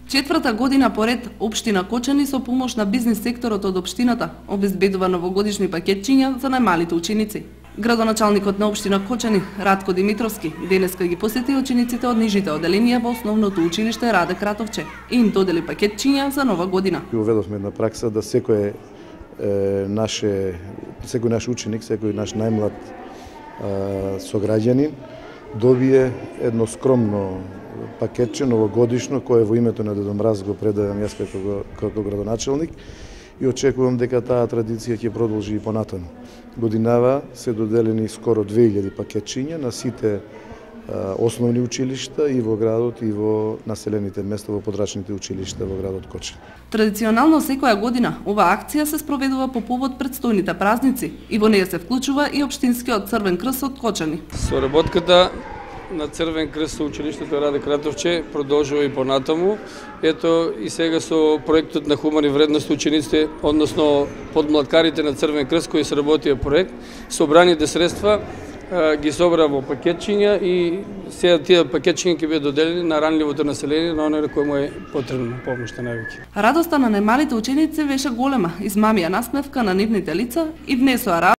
Четврта година поред, општина Кочани со помош на бизнис секторот од општината обезбедува новогодишни пакетчиња за најмалите ученици. Градоначалникот на општина Кочани, Радко Димитровски, денеска ги посети учениците од нижите оделенија во основното училиште Раде Кратовче и им додели пакетчиња за нова година. Уведовме една пракса да секој наш ученик, секој наш најмлад сограѓанин добие едно скромно пакетче новогодишно кое во името на Дедо Мраз го предавам јас како градоначалник и очекувам дека таа традиција ќе продолжи и понатаму. Годинава се доделени скоро 2000 пакетчиња на сите основни училишта и во градот и во населените места во подрачните училишта во градот Кочани. Традиционално секоја година оваа акција се спроведува по повод предстојните празници и во неја се вклучува и општинскиот Црвен крст од Кочани. Соработката на Црвен крст со училиштето Раде Кратовче продолжува и понатаму. Ето и сега со проектот на хумани вредности учениците, односно подмлаткарите на Црвен крст кои сработија проект, собраните средства ги собра во пакетчиња и сега тие пакетчиња ќе бидат доделени на ранливото население, на оние кои му е потребна помошта највеќе. Радоста на најмалите ученици беше голема, измамија насмевка на нивните лица и внесоа